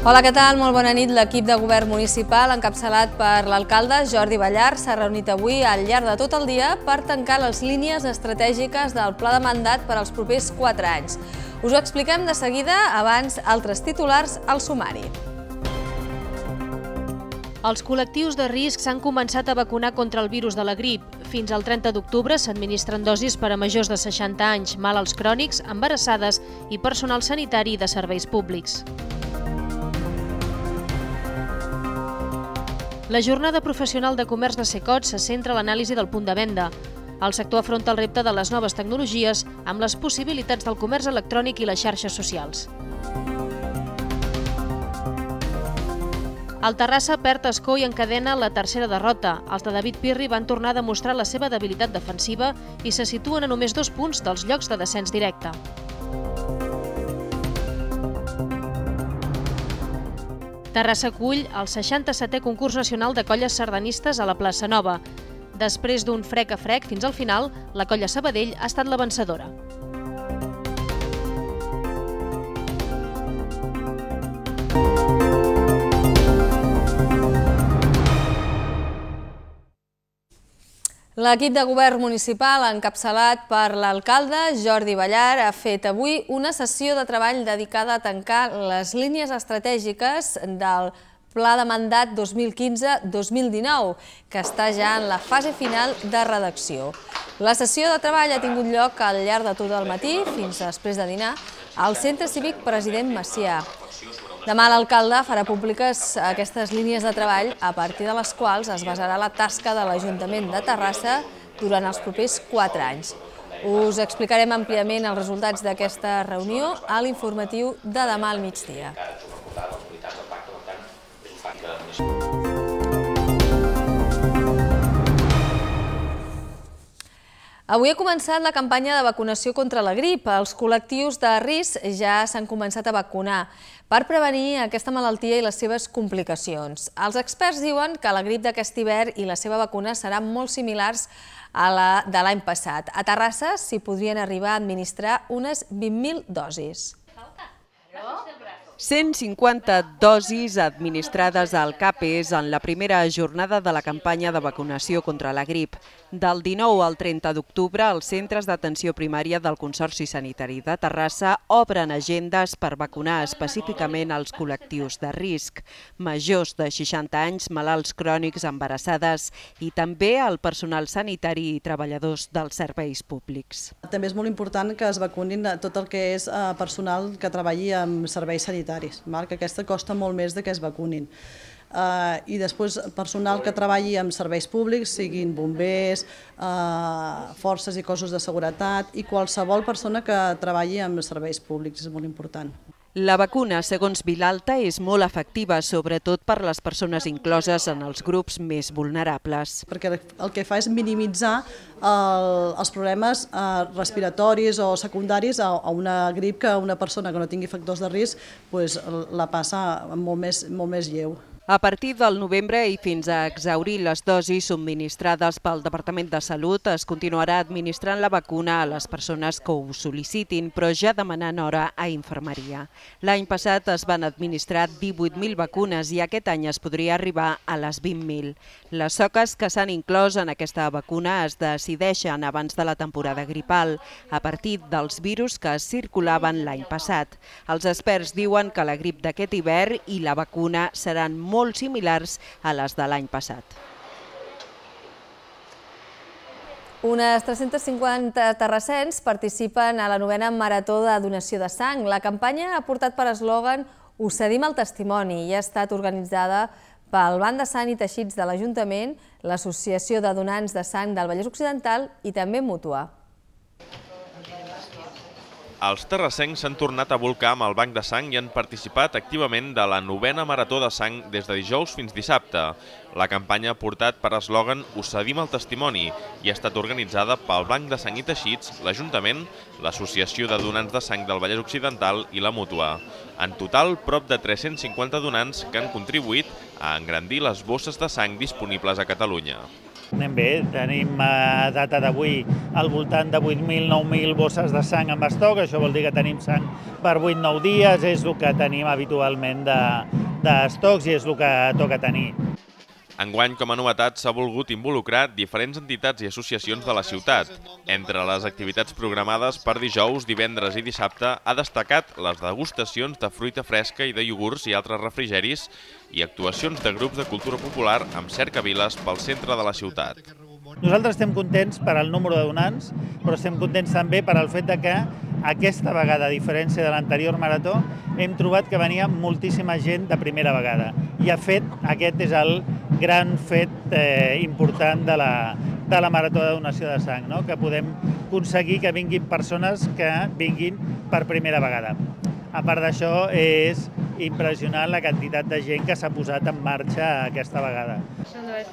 Hola, què tal? Molt bona nit. L'equip de govern municipal, encapçalat per l'alcalde Jordi Ballart, s'ha reunit avui al llarg de tot el dia per tancar les línies estratègiques del pla de mandat per als propers 4 anys. Us ho expliquem de seguida, abans altres titulars al sumari. Els col·lectius de risc s'han començat a vacunar contra el virus de la grip. Fins al 30 d'octubre s'administren dosis per a majors de 60 anys, malalts crònics, embarassades i personal sanitari de serveis públics. La jornada professional de comerç de Secot se centra en l'anàlisi del punt de venda. El sector afronta el repte de les noves tecnologies amb les possibilitats del comerç electrònic i les xarxes socials. El Terrassa perd escó i encadena la tercera derrota. Els de David Pirri van tornar a demostrar la seva debilitat defensiva i se situen a només 2 punts dels llocs de descens directe. Terrassa acull el 67è concurs nacional de colles sardanistes a la plaça Nova. Després d'un frec a frec fins al final, la colla Sabadell ha estat la vencedora. L'equip de govern municipal, encapçalat per l'alcalde Jordi Ballart, ha fet avui una sessió de treball dedicada a tancar les línies estratègiques del Pla de Mandat 2015-2019, que està ja en la fase final de redacció. La sessió de treball ha tingut lloc al llarg de tot el matí, fins després de dinar, al Centre Cívic President Macià. Demà l'alcalde farà públiques aquestes línies de treball a partir de les quals es basarà la tasca de l'Ajuntament de Terrassa durant els propers 4 anys. Us explicarem àmpliament els resultats d'aquesta reunió a l'informatiu de demà al migdia. Avui ha començat la campanya de vacunació contra la grip. Els col·lectius de risc ja s'han començat a vacunar per prevenir aquesta malaltia i les seves complicacions. Els experts diuen que la grip d'aquest hivern i la seva vacuna seran molt similars a la de l'any passat. A Terrassa s'hi podrien arribar a administrar unes 20.000 dosis. 150 dosis administrades al CAPES en la primera jornada de la campanya de vacunació contra la grip. Del 19 al 30 d'octubre, els centres d'atenció primària del Consorci Sanitari de Terrassa obren agendes per vacunar específicament els col·lectius de risc, majors de 60 anys, malalts crònics, embarassades i també el personal sanitari i treballadors dels serveis públics. També és molt important que es vacunin tot el que és personal que treballi en serveis sanitaris, que aquesta costa molt més que es vacunin. I després personal que treballi en serveis públics, siguin bombers, forces i cossos de seguretat i qualsevol persona que treballi en serveis públics, és molt important. La vacuna, segons Vilalta, és molt efectiva, sobretot per les persones incloses en els grups més vulnerables. Perquè el que fa és minimitzar els problemes respiratoris o secundaris a una grip que una persona que no tingui factors de risc la passa molt més lleu. A partir del novembre i fins a exhaurir les dosis subministrades pel Departament de Salut, es continuarà administrant la vacuna a les persones que ho sol·licitin, però ja demanant hora a infermeria. L'any passat es van administrar 18.000 vacunes i aquest any es podria arribar a les 20.000. Les soques que s'han inclòs en aquesta vacuna es decideixen abans de la temporada gripal, a partir dels virus que circulaven l'any passat. Els experts diuen que la grip d'aquest hivern i la vacuna seran molt similars a les de l'any passat. Unes 350 terrassens participen a la 9a Marató de Donació de Sang. La campanya ha portat per eslògan "Us cedim el testimoni" i ha estat organitzada pel Banc de Sang i Teixits de l'Ajuntament, l'Associació de Donants de Sang del Vallès Occidental i també Mútua. Els terrassencs s'han tornat a volcar amb el Banc de Sang i han participat activament de la 9a Marató de Sang des de dijous fins dissabte. La campanya ha portat per eslògan "Us cedim el testimoni" i ha estat organitzada pel Banc de Sang i Teixits, l'Ajuntament, l'Associació de Donants de Sang del Vallès Occidental i la Mútua. En total, prop de 350 donants que han contribuït a engrandir les bosses de sang disponibles a Catalunya. Anem bé, tenim a data d'avui al voltant de 8.000, 9.000 bosses de sang en estoc, això vol dir que tenim sang per 8-9 dies, és el que tenim habitualment d'estocs i és el que toca tenir. Enguany, com a novetat, s'ha volgut involucrar diferents entitats i associacions de la ciutat. Entre les activitats programades per dijous, divendres i dissabte ha destacat les degustacions de fruita fresca i de iogurts i altres refrigeris i actuacions de grups de cultura popular amb cercaviles pel centre de la ciutat. Nosaltres estem contents per al número de donants, però estem contents també per al fet que aquesta vegada, a diferència de l'anterior marató, hem trobat que venia moltíssima gent de primera vegada. I aquest és el gran fet important de la marató de donació de sang, que podem aconseguir que vinguin persones que vinguin per primera vegada. A part d'això, és impressionant la quantitat de gent que s'ha posat en marxa aquesta vegada.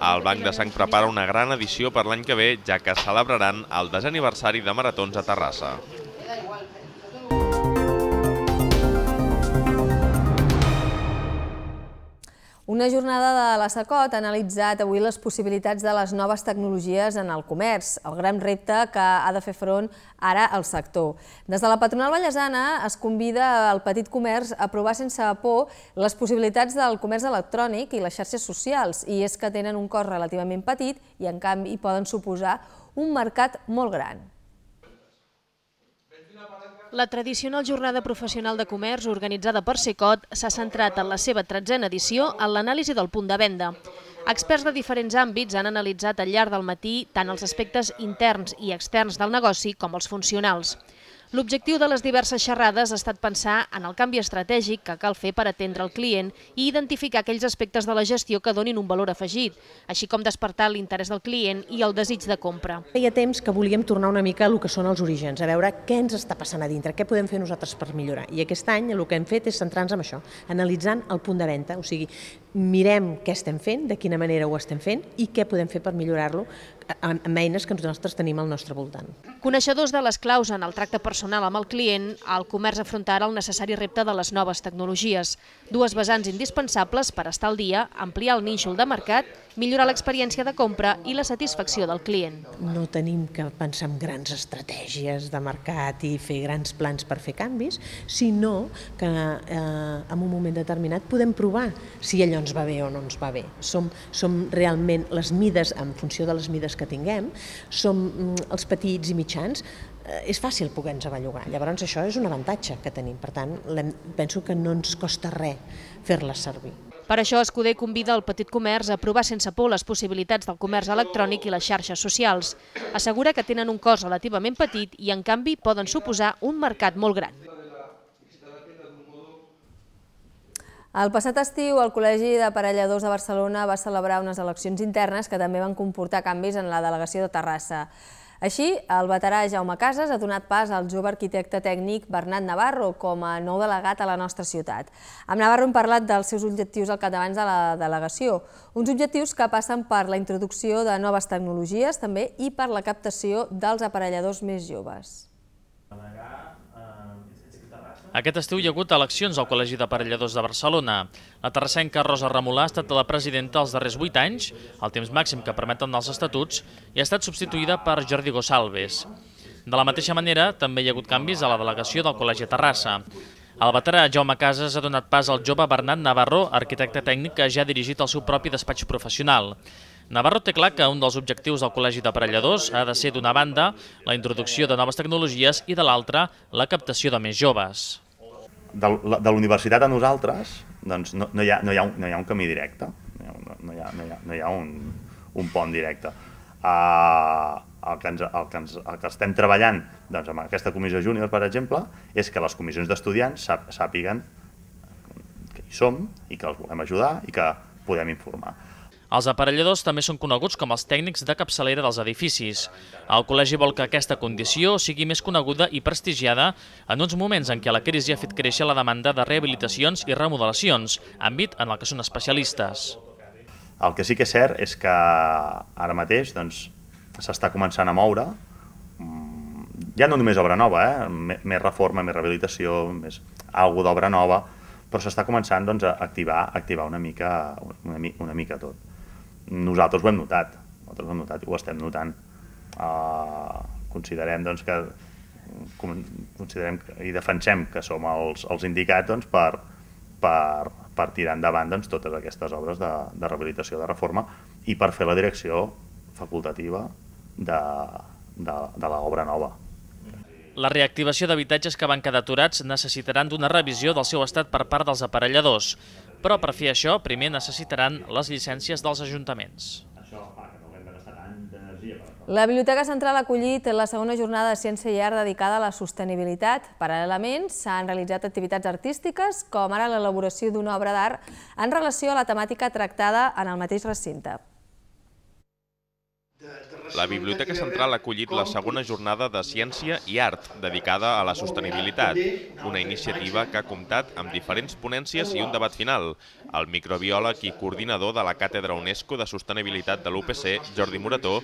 El Banc de Sang prepara una gran edició per l'any que ve, ja que celebraran el 10è aniversari de maratons a Terrassa. Una jornada de la SACOT ha analitzat avui les possibilitats de les noves tecnologies en el comerç, el gran repte que ha de fer front ara el sector. Des de la patronal vallesana es convida al petit comerç a provar sense por les possibilitats del comerç electrònic i les xarxes socials, i és que tenen un cost relativament petit i en canvi poden suposar un mercat molt gran. La tradicional jornada professional de comerç organitzada per SACOT s'ha centrat en la seva 13a edició en l'anàlisi del punt de venda. Experts de diferents àmbits han analitzat al llarg del matí tant els aspectes interns i externs del negoci com els funcionals. L'objectiu de les diverses xerrades ha estat pensar en el canvi estratègic que cal fer per atendre el client i identificar aquells aspectes de la gestió que donin un valor afegit, així com despertar l'interès del client i el desig de compra. Feia temps que volíem tornar una mica al que són els orígens, a veure què ens està passant a dintre, què podem fer nosaltres per millorar. I aquest any el que hem fet és centrar-nos en això, analitzant el punt de venda, o sigui, mirem què estem fent, de quina manera ho estem fent i què podem fer per millorar-lo amb eines que nosaltres tenim al nostre voltant. Coneixedors de les claus en el tracte personal amb el client, el comerç afronta ara el necessari repte de les noves tecnologies. Dues vessants indispensables per estar al dia, ampliar el nínxol de mercat, millorar l'experiència de compra i la satisfacció del client. No tenim que pensar en grans estratègies de mercat i fer grans plans per fer canvis, sinó que en un moment determinat podem provar si allò ens va bé o no ens va bé. Som realment les mides, en funció de les mides que tinguem, som els petits i mitjans, és fàcil poder-nos bellugar. Llavors això és un avantatge que tenim, per tant penso que no ens costa res fer-les servir. Per això, Escuder convida el petit comerç a provar sense por les possibilitats del comerç electrònic i les xarxes socials. Assegura que tenen un cost relativament petit i, en canvi, poden suposar un mercat molt gran. El passat estiu, el Col·legi d'Aparelladors de Barcelona va celebrar unes eleccions internes que també van comportar canvis en la delegació de Terrassa. Així, el veterà Jaume Casas ha donat pas al jove arquitecte tècnic Bernat Navarro com a nou delegat a la nostra ciutat. Amb Navarro hem parlat dels seus objectius al capdavant de la delegació, uns objectius que passen per la introducció de noves tecnologies també i per la captació dels aparelladors més joves. Aquest estiu hi ha hagut eleccions al Col·legi d'Aparelladors de Barcelona. La terrassenca Rosa Remolà ha estat la presidenta els darrers 8 anys, el temps màxim que permeten els estatuts, i ha estat substituïda per Jordi Gosalves. De la mateixa manera, també hi ha hagut canvis a la delegació del Col·legi de Terrassa. El veterà Jaume Casas ha donat pas al jove Bernat Navarro, arquitecte tècnic que ja ha dirigit el seu propi despatx professional. Navarro té clar que un dels objectius del Col·legi d'Aparelladors ha de ser, d'una banda, la introducció de noves tecnologies i, de l'altra, la captació de més joves. De la universitat a nosaltres no hi ha un camí directe, no hi ha un pont directe. El que estem treballant amb aquesta comissió júnior, per exemple, és que les comissions d'estudiants sàpiguen que hi som i que els volem ajudar i que podem informar. Els aparelladors també són coneguts com els tècnics de capçalera dels edificis. El col·legi vol que aquesta condició sigui més coneguda i prestigiada en uns moments en què la crisi ha fet créixer la demanda de rehabilitacions i remodelacions, àmbit en el que són especialistes. El que sí que és cert és que ara mateix s'està començant a moure, ja no només obra nova, més reforma, més rehabilitació, més alguna d'obra nova, però s'està començant a activar una mica tot. Nosaltres ho hem notat. nosaltres ho hem notat i ho estem notant. Considerem i defensem que som els indicats per tirar endavant totes aquestes obres de rehabilitació, de reforma, i per fer la direcció facultativa de l'obra nova. La reactivació d'habitatges que van quedar aturats necessitaran d'una revisió del seu estat per part dels aparelladors, però per fer això primer necessitaran les llicències dels ajuntaments. La Biblioteca Central ha acollit la segona jornada de Ciència i Art dedicada a la sostenibilitat. Paral·lelament, s'han realitzat activitats artístiques, com ara l'elaboració d'una obra d'art en relació a la temàtica tractada en el mateix recinte. La Biblioteca Central ha acollit la segona jornada de Ciència i Art dedicada a la sostenibilitat, una iniciativa que ha comptat amb diferents ponències i un debat final. El microbiòleg i coordinador de la Càtedra UNESCO de Sostenibilitat de l'UPC, Jordi Morató,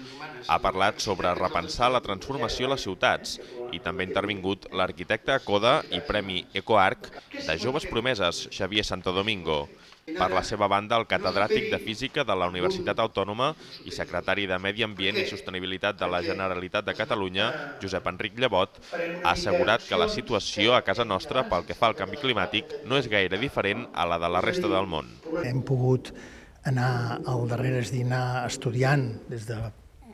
ha parlat sobre repensar la transformació a les ciutats i també ha intervingut l'arquitecte CODA i Premi EcoArc de Joves Promeses, Xavier Santo Domingo. Per la seva banda, el catedràtic de Física de la Universitat Autònoma i secretari de Medi Ambient i Sostenibilitat de la Generalitat de Catalunya, Josep Enric Llevot, ha assegurat que la situació a casa nostra pel que fa al canvi climàtic no és gaire diferent a la de la resta del món. Hem pogut anar al darrere, és a dir, anar estudiant des de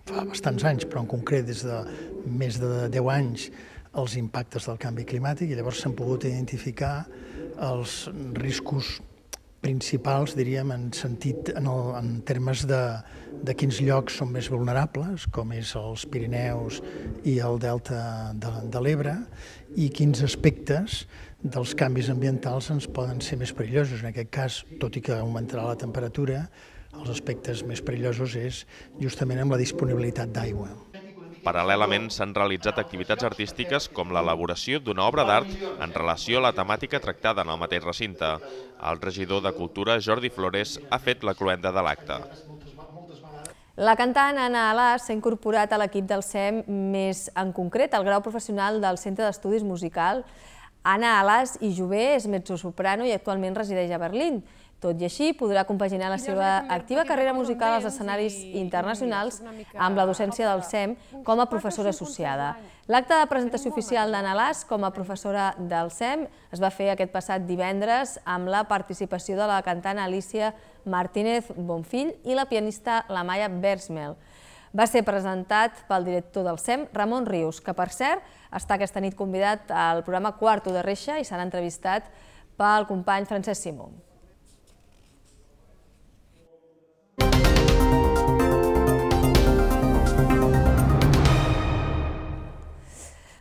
fa bastants anys, però en concret des de més de 10 anys, els impactes del canvi climàtic, i llavors s'han pogut identificar els riscos principals, diríem, en termes de quins llocs són més vulnerables, com és els Pirineus i el delta de l'Ebre, i quins aspectes dels canvis ambientals ens poden ser més perillosos. En aquest cas, tot i que augmentarà la temperatura, els aspectes més perillosos és justament amb la disponibilitat d'aigua. Paral·lelament, s'han realitzat activitats artístiques com l'elaboració d'una obra d'art en relació a la temàtica tractada en el mateix recinte. El regidor de Cultura, Jordi Flores, ha fet la cloenda de l'acte. La cantant Anna Alàs s'ha incorporat a l'equip del SEM, més en concret al grau professional del Centre d'Estudis Musical. Anna Alàs i Jové és mezzosoprano i actualment resideix a Berlín. Tot i així, podrà compaginar la seva activa carrera musical als escenaris internacionals amb la docència del SEM com a professora associada. L'acte de presentació oficial d'Anna Alàs com a professora del SEM es va fer aquest passat divendres amb la participació de la cantant Alicia Martínez Bonfill i la pianista Lamaya Bersmel. Va ser presentat pel director del SEM, Ramon Rius, que per cert està aquesta nit convidat al programa Quarto de Reixa i serà entrevistat pel company Francesc Simó.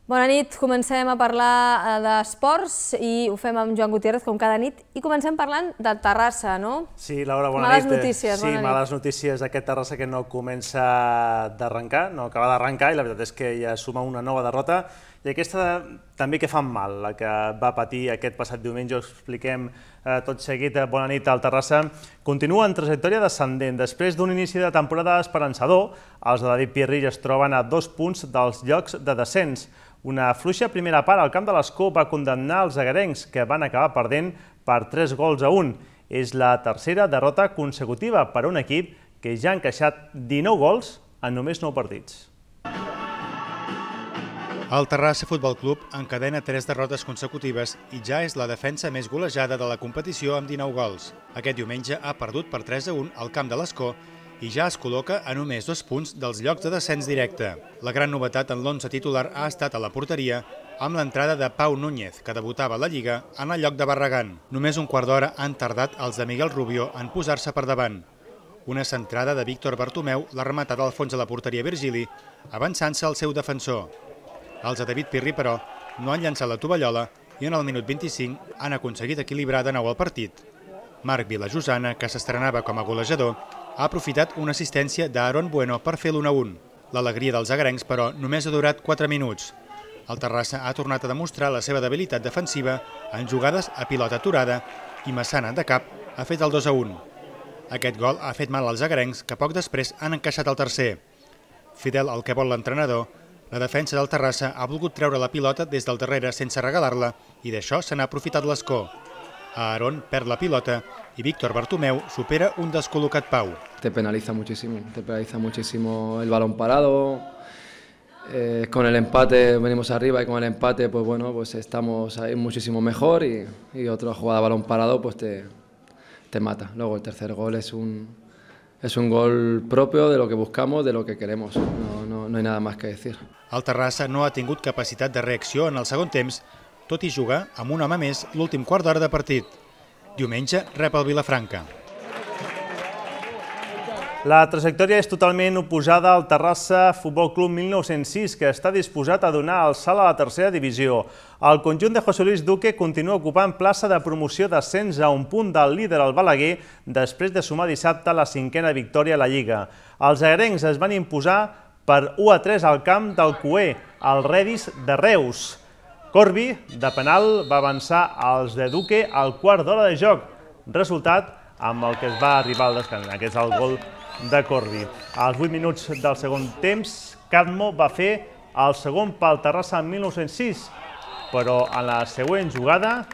Bona nit, comencem a parlar d'esports i ho fem amb Joan Gutiérrez com cada nit i comencem parlant de Terrassa, no? Sí, Laura, bona nit. Males notícies, bona nit. Sí, males notícies d'aquest Terrassa que no comença d'arrencar, no acaba d'arrencar i la veritat és que ja suma una nova derrota i aquesta també que fan mal, la que va patir aquest passat diumenge, ho expliquem tot seguit. Bona nit al Terrassa. Continua en trajectòria descendent. Després d'un inici de temporada esperançador, els de David Pirri es troben a 2 punts dels llocs de descens. Una fluixa primera part al camp de l'Escó va condemnar els agarencs, que van acabar perdent per 3-1. És la tercera derrota consecutiva per a un equip que ja ha encaixat 19 gols en només 9 partits. El Terrassa Futbol Club encadena 3 derrotes consecutives i ja és la defensa més golejada de la competició amb 19 gols. Aquest diumenge ha perdut per 3-1 al camp de l'Escó i ja es col·loca a només 2 punts dels llocs de descens directe. La gran novetat en l'11 titular ha estat a la porteria amb l'entrada de Pau Núñez, que debutava a la Lliga en el lloc de Barragán. Només un quart d'hora han tardat els de Miguel Rubio en posar-se per davant. Una centrada de Víctor Bartomeu l'ha rematat al fons de la porteria Virgili, avançant-se al seu defensor. Els de David Pirri, però, no han llançat la tovallola i en el minut 25 han aconseguit equilibrar de nou el partit. Marc Vilajosana, que s'estrenava com a golejador, ha aprofitat una assistència d'Aaron Bueno per fer l'1-1. L'alegria dels agarencs, però, només ha durat 4 minuts. El Terrassa ha tornat a demostrar la seva debilitat defensiva en jugades a pilota aturada i Massana, de cap, ha fet el 2-1. Aquest gol ha fet mal als agarencs, que poc després han encaixat el tercer. Fidel al que vol l'entrenador, la defensa del Terrassa ha volgut treure la pilota des del darrere sense regalar-la i d'això se n'ha aprofitat l'Escó. Aarón perd la pilota i Víctor Bartomeu supera un descol·locat Pau. Te penaliza muchísimo el balón parado. Con el empate venimos arriba y con el empate pues bueno, pues estamos ahí muchísimo mejor y otra jugada balón parado pues te mata. Luego el tercer gol es un gol propio de lo que buscamos, de lo que queremos. No hay nada más que decir. El Terrassa no ha tingut capacitat de reacció en el segon temps, tot i jugar amb un home més l'últim quart d'hora de partit. Diumenge rep el Vilafranca. La trajectòria és totalment oposada al Terrassa Futbol Club 1906, que està disposat a donar el salt a la tercera divisió. El conjunt de José Luis Duque continua ocupant plaça de promoció d'ascens a un punt del líder al Balaguer després de sumar dissabte la 5a victòria a la Lliga. Els agrencs es van imposar per 1-3 al camp del Cué, al Redis de Reus. Corbi, de penal, va avançar als de Duque al quart d'hora de joc, resultat amb el que es va arribar al descans, que és el gol de Corbi. Als 8 minuts del segon temps, Cadmo va fer el segon pel Terrassa en 1906, però en la següent jugada,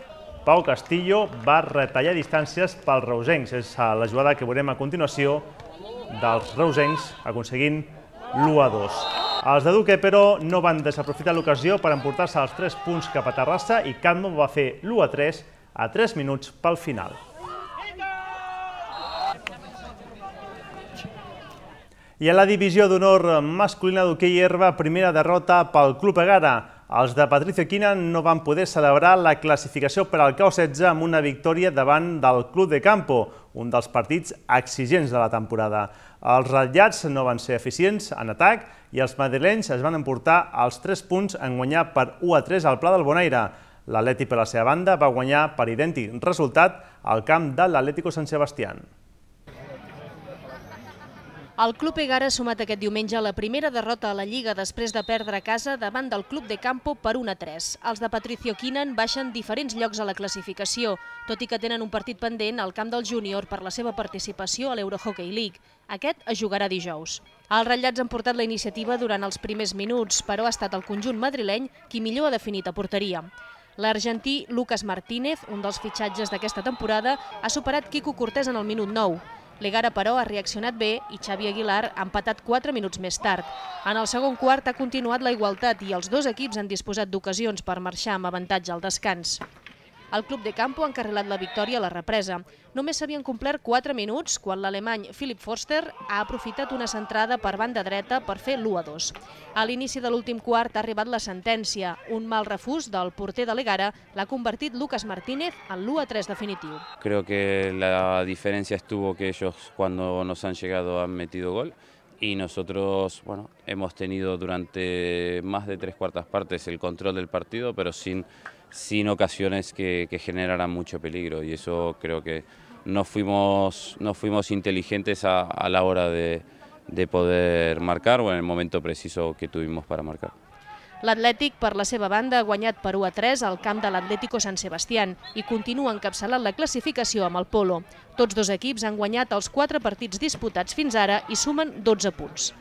Pau Castillo va retallar distàncies pels reusencs. És la jugada que veurem a continuació dels reusencs aconseguint l'1-2. Els de Duque, però, no van desaprofitar l'ocasió per emportar-se els 3 punts cap a Terrassa i Cadmo va fer l'1-3 a 3 minuts pel final. I a la divisió d'honor masculina d'hoquei herba, primera derrota pel Club Egara. Els de Patricio Quina no van poder celebrar la classificació per al K16 amb una victòria davant del Club de Campo, un dels partits exigents de la temporada. Els ratllats no van ser eficients en atac i els madrilenys es van emportar els 3 punts en guanyar per 1-3 al Pla del Bonaire. L'Atleti, per la seva banda, va guanyar per idèntic resultat al camp de l'Atlético San Sebastián. El Club Egara ha sumat aquest diumenge la primera derrota a la Lliga després de perdre a casa davant del Club de Campo per 1-3. Els de Patricio Quinan baixen diferents llocs a la classificació, tot i que tenen un partit pendent al camp del Júnior per la seva participació a l'Eurohockey League. Aquest es jugarà dijous. Els ratllats han portat la iniciativa durant els primers minuts, però ha estat el conjunt madrileny qui millor ha definit a porteria. L'argentí Lucas Martínez, un dels fitxatges d'aquesta temporada, ha superat Quico Cortés en el minut 9. L'Egara, però, ha reaccionat bé i Xavi Aguilar ha empatat 4 minuts més tard. En el segon quart ha continuat la igualtat i els dos equips han disposat d'ocasions per marxar amb avantatge al descans. El Club de Campo ha encarrilat la victòria a la represa. Només s'havien complert 4 minuts quan l'alemany Philipp Forster ha aprofitat una centrada per banda dreta per fer l'1-2. A l'inici de l'últim quart ha arribat la sentència. Un mal refús del porter de l'Egara l'ha convertit Lucas Martínez en l'1-3 definitiu. Creo que la diferencia estuvo que ellos cuando nos han llegado han metido gol y nosotros hemos tenido durante más de 3/4 partes el control del partido, pero sin ocasiones que generaran mucho peligro, y eso creo que no fuimos inteligentes a la hora de poder marcar o en el momento preciso que tuvimos para marcar. L'Atlètic, per la seva banda, ha guanyat per 1-3 al camp de l'Atlético San Sebastián i continua encapçalant la classificació amb el Polo. Tots dos equips han guanyat els 4 partits disputats fins ara i sumen 12 punts.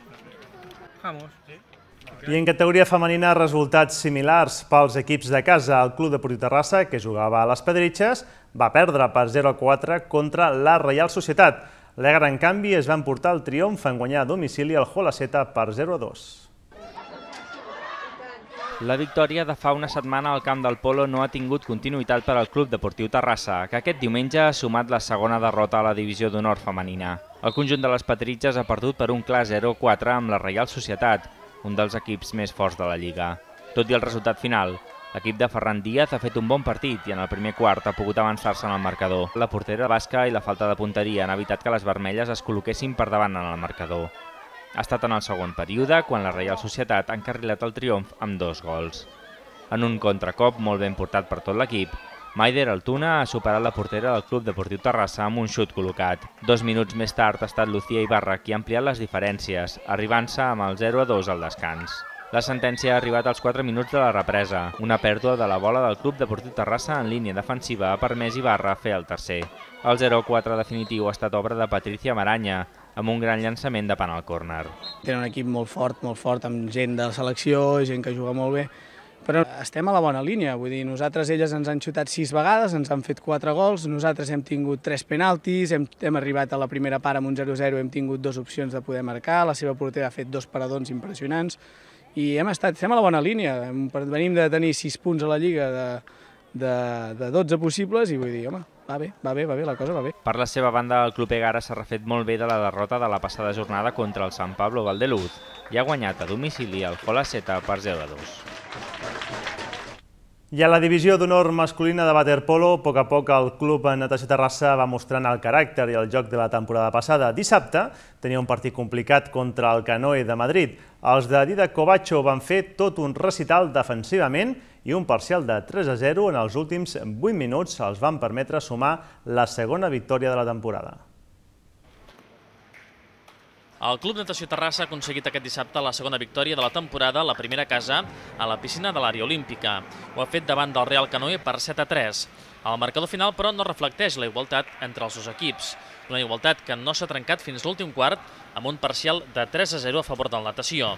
I en categoria femenina, resultats similars pels equips de casa. El Club Deportiu Terrassa, que jugava a les Pedritxes, va perdre per 0-4 contra la Reial Societat. L'Egara, en canvi, es va emportar el triomf en guanyar a domicili el Holaceta per 0-2. La victòria de fa una setmana al camp del Polo no ha tingut continuïtat per al Club Deportiu Terrassa, que aquest diumenge ha sumat la segona derrota a la divisió d'honor femenina. El conjunt de les Pedritxes ha perdut per un clar 0-4 amb la Reial Societat, un dels equips més forts de la Lliga. Tot i el resultat final, l'equip de Ferran Díaz ha fet un bon partit i en el primer quart ha pogut avançar-se en el marcador. La portera basca i la falta de punteria han evitat que les vermelles es col·loquessin per davant en el marcador. Ha estat en el segon període quan la Reial Societat ha encarrilat el triomf amb 2 gols. En un contracop molt ben portat per tot l'equip, Maider Altuna ha superat la portera del Club Deportiu Terrassa amb un xut col·locat. 2 minuts més tard ha estat Lucía Ibarra qui ha ampliat les diferències, arribant-se amb el 0-2 al descans. La sentència ha arribat als 4 minuts de la represa. Una pèrdua de la bola del Club Deportiu Terrassa en línia defensiva ha permès Ibarra fer el tercer. El 0-4 definitiu ha estat obra de Patricia Maranya, amb un gran llançament de penal córner. Tenen un equip molt fort, amb gent de selecció, gent que juga molt bé, Però estem a la bona línia, vull dir, elles ens han xutat 6 vegades, ens han fet 4 gols, nosaltres hem tingut 3 penaltis, hem arribat a la primera part amb un 0-0, hem tingut 2 opcions de poder marcar, la seva portera ha fet 2 paradons impressionants i estem a la bona línia, venim de tenir 6 punts a la Lliga de 12 possibles i vull dir, home, va bé, la cosa va bé. Per la seva banda, el club Egara s'ha refet molt bé de la derrota de la passada jornada contra el San Pablo Valdeluz i ha guanyat a domicili el Jolaseta per 0-2. I a la divisió d'honor masculina de waterpolo, a poc el Club Natació Terrassa va mostrant el caràcter i el joc de la temporada passada. Dissabte tenia un partit complicat contra el Canoe de Madrid. Els de Didac Covacho van fer tot un recital defensivament i un parcial de 3-0 en els últims 8 minuts els van permetre sumar la segona victòria de la temporada. El Club Natació Terrassa ha aconseguit aquest dissabte la segona victòria de la temporada, la primera a casa, a la piscina de l'àrea olímpica. Ho ha fet davant del Real Canoe per 7-3. El marcador final, però, no reflecteix la igualtat entre els dos equips. Una igualtat que no s'ha trencat fins l'últim quart, amb un parcial de 3-0 a favor del Natació.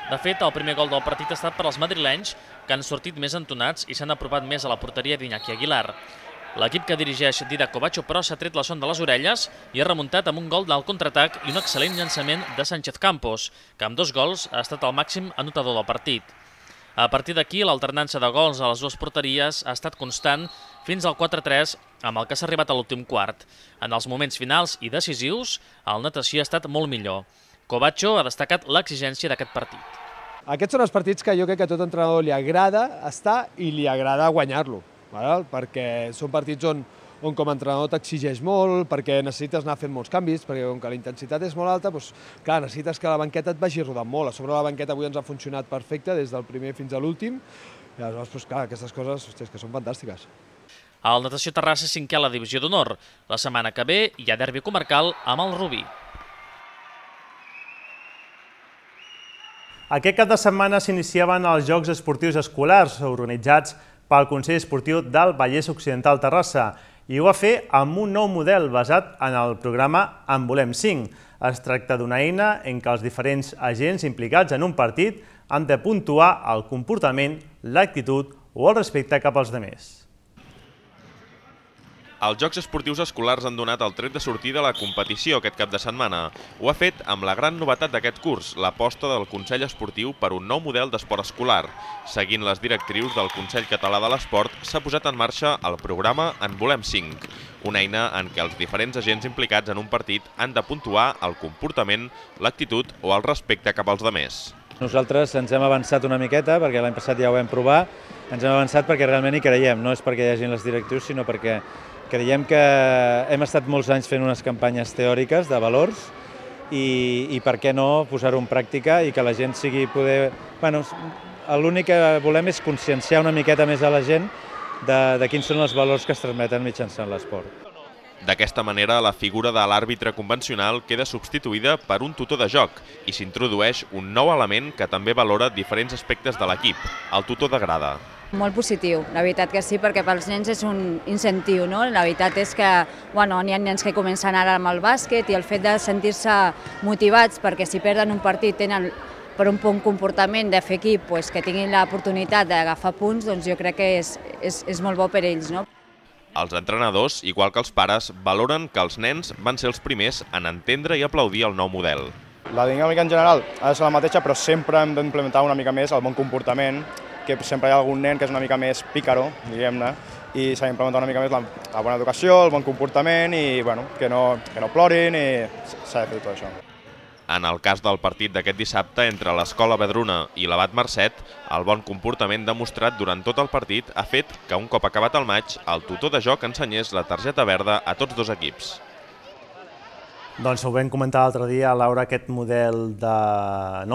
De fet, el primer gol del partit ha estat per als madrilenys, que han sortit més entonats i s'han apropat més a la porteria d'Iñaki Aguilar. L'equip que dirigeix Didac Covacho, però, s'ha tret la son de les orelles i ha remuntat amb un gol del contraatac i un excel·lent llançament de Sánchez Campos, que amb 2 gols ha estat el màxim anotador del partit. A partir d'aquí, l'alternança de gols a les dues porteries ha estat constant fins al 4-3, amb el que s'ha arribat a l'últim quart. En els moments finals i decisius, el Natació ha estat molt millor. Covacho ha destacat l'exigència d'aquest partit. Aquests són els partits que jo crec que a tot entrenador li agrada estar i li agrada guanyar-lo. Perquè són partits on com a entrenador t'exigeix molt, perquè necessites anar fent molts canvis, perquè com que la intensitat és molt alta, clar, necessites que la banqueta et vagi rodant molt. A sobre la banqueta avui ens ha funcionat perfecte, des del primer fins a l'últim, i aleshores, clar, aquestes coses que són fantàstiques. El Natació Terrassa és 5è a la divisió d'honor. La setmana que ve hi ha derbi comarcal amb el Rubí. Aquest cap de setmana s'iniciaven els Jocs Esportius Escolars, organitzats pel Consell Esportiu del Vallès Occidental Terrassa, i ho va fer amb un nou model basat en el programa En volem 5. Es tracta d'una eina en què els diferents agents implicats en un partit han de puntuar el comportament, l'actitud o el respecte cap als altres. Els Jocs Esportius Escolars han donat el tret de sortir de la competició aquest cap de setmana. Ho ha fet amb la gran novetat d'aquest curs, l'aposta del Consell Esportiu per un nou model d'esport escolar. Seguint les directrius del Consell Català de l'Esport, s'ha posat en marxa el programa En volem 5, una eina en què els diferents agents implicats en un partit han de puntuar el comportament, l'actitud o el respecte cap als altres. Nosaltres ens hem avançat una miqueta, perquè l'any passat ja ho vam provar, ens hem avançat perquè realment hi creiem, no és perquè hi hagin les directrius, sinó perquè creiem que hem estat molts anys fent unes campanyes teòriques de valors i per què no posar-ho en pràctica i que la gent sigui poder... L'únic que volem és conscienciar una miqueta més a la gent de quins són els valors que es transmeten mitjançant l'esport. D'aquesta manera, la figura de l'àrbitre convencional queda substituïda per un tutor de joc i s'introdueix un nou element que també valora diferents aspectes de l'equip, el tutor de grada. Molt positiu, la veritat que sí, perquè pels nens és un incentiu, no? La veritat és que n'hi ha nens que comencen ara amb el bàsquet i el fet de sentir-se motivats perquè si perden un partit tenen per un bon comportament de fer equip que tinguin l'oportunitat d'agafar punts, doncs jo crec que és molt bo per ells, no? Els entrenadors, igual que els pares, valoren que els nens van ser els primers en entendre i aplaudir el nou model. La dinàmica en general ha de ser la mateixa, però sempre hem d'implementar una mica més el bon comportament, que sempre hi ha algun nen que és una mica més pícaro, diguem-ne, i s'ha d'implementar una mica més la bona educació, el bon comportament i que no plorin i s'ha de fer tot això. En el cas del partit d'aquest dissabte entre l'Escola Vedruna i l'Abat Marcet, el bon comportament demostrat durant tot el partit ha fet que un cop acabat el maig, el tutor de joc ensenyés la targeta verda a tots dos equips. Doncs ho vam comentar l'altre dia, Laura, aquest nou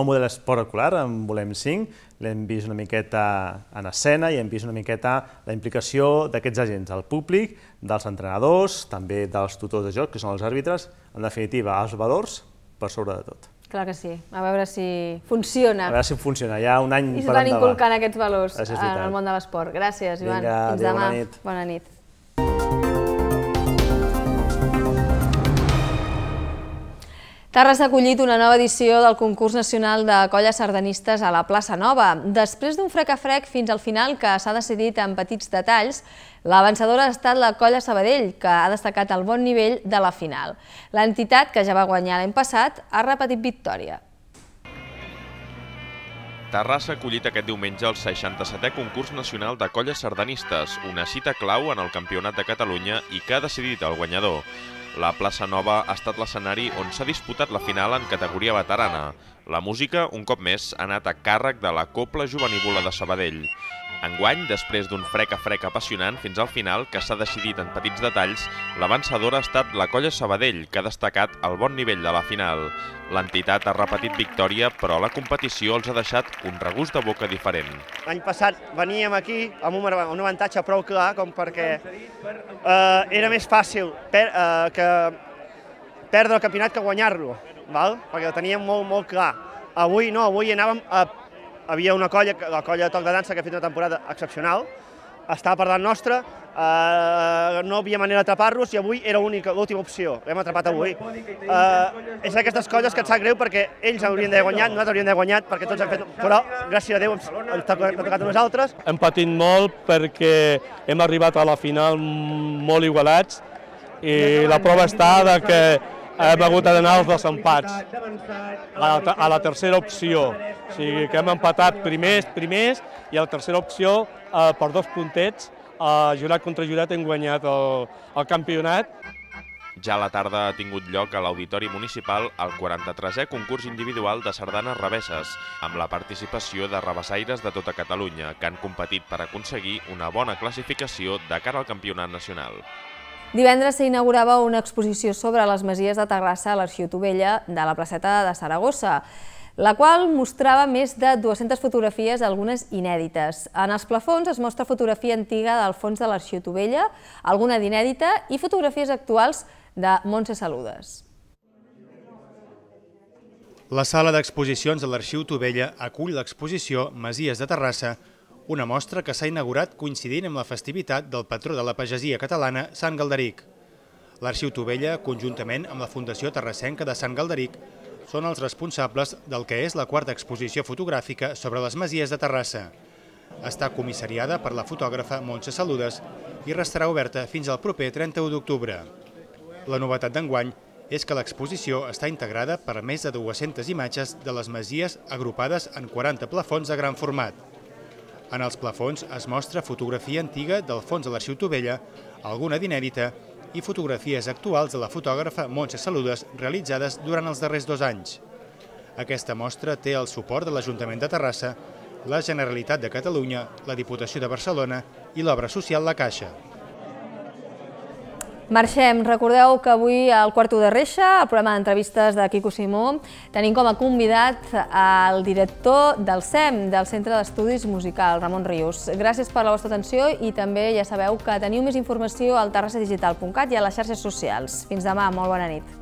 model esport escolar, En volem 5, l'hem vist una miqueta en escena i hem vist una miqueta la implicació d'aquests agents, el públic, dels entrenadors, també dels tutors de joc, que són els àrbitres, en definitiva, els valors per sobre de tot. Clar que sí, a veure si funciona. A veure si funciona, hi ha un any per endavant. I s'estan inculcant aquests valors en el món de l'esport. Gràcies, Ivan. Fins demà. Bona nit. Terrassa ha acollit una nova edició del concurs nacional de colles sardanistes a la plaça Nova. Després d'un frec a frec fins al final que s'ha decidit en petits detalls, la vencedora ha estat la colla Sabadell, que ha destacat el bon nivell de la final. L'entitat, que ja va guanyar l'any passat, ha repetit victòria. Terrassa ha acollit aquest diumenge el 67è concurs nacional de colles sardanistes, una cita clau en el Campionat de Catalunya i que ha decidit el guanyador. La plaça Nova ha estat l'escenari on s'ha disputat la final en categoria veterana. La música, un cop més, ha anat a càrrec de la Cobla Jovenívola de Sabadell. Enguany, després d'un frec a frec apassionant fins al final, que s'ha decidit en petits detalls, la vencedora ha estat la colla Sabadell, que ha destacat el bon nivell de la final. L'entitat ha repetit victòria, però la competició els ha deixat un regust de boca diferent. L'any passat veníem aquí amb un avantatge prou clar, com perquè era més fàcil perdre el campionat que guanyar-lo, perquè ho teníem molt clar. Avui no, avui anàvem a... Havia una colla, la colla de Toc de Dansa, que ha fet una temporada excepcional, estava per davant nostra, no havia manera d'atrapar-los i avui era l'última opció, l'hem atrapat avui. És d'aquestes colles que et sap greu perquè ells haurien d'haver guanyat, nosaltres hauríem d'haver guanyat perquè tots han fet... Però, gràcies a Déu, ens ha tocat a nosaltres. Hem patit molt perquè hem arribat a la final molt igualats i la prova està que hem hagut d'anar als desempats, a la tercera opció. O sigui que hem empatat primers i a la tercera opció, per 2 puntets, jurat contra jurat hem guanyat el campionat. Ja a la tarda ha tingut lloc a l'Auditori Municipal el 43è concurs individual de sardanes revesses, amb la participació de revessaires de tota Catalunya, que han competit per aconseguir una bona classificació de cara al campionat nacional. Divendres s'inaugurava una exposició sobre les masies de Terrassa a l'Arxiu Tovella de la placeta de Saragossa, la qual mostrava més de 200 fotografies, algunes inèdites. En els plafons es mostra fotografia antiga del fons de l'Arxiu Tovella, alguna d'inèdita i fotografies actuals de Montse Saludes. La sala d'exposicions de l'Arxiu Tovella acull l'exposició Masies de Terrassa, una mostra que s'ha inaugurat coincidint amb la festivitat del patró de la pagesia catalana, Sant Galderic. L'Arxiu Tovella, conjuntament amb la Fundació Terrassenca de Sant Galderic, són els responsables del que és la 4a exposició fotogràfica sobre les masies de Terrassa. Està comissariada per la fotògrafa Montse Saludes i restarà oberta fins al proper 31 d'octubre. La novetat d'enguany és que l'exposició està integrada per més de 200 imatges de les masies agrupades en 40 plafons de gran format. En els plafons es mostra fotografia antiga del fons de l'Arxiu Tovella, alguna d'inèdita i fotografies actuals de la fotògrafa Montse Saludes realitzades durant els darrers 2 anys. Aquesta mostra té el suport de l'Ajuntament de Terrassa, la Generalitat de Catalunya, la Diputació de Barcelona i l'Obra Social La Caixa. Marxem. Recordeu que avui al Quarto de Reixa, el programa d'entrevistes de Quico Simó, tenim com a convidat el director del CEM, del Centre d'Estudis Musicals, Ramon Rius. Gràcies per la vostra atenció i també ja sabeu que teniu més informació al terrassadigital.cat i a les xarxes socials. Fins demà, molt bona nit.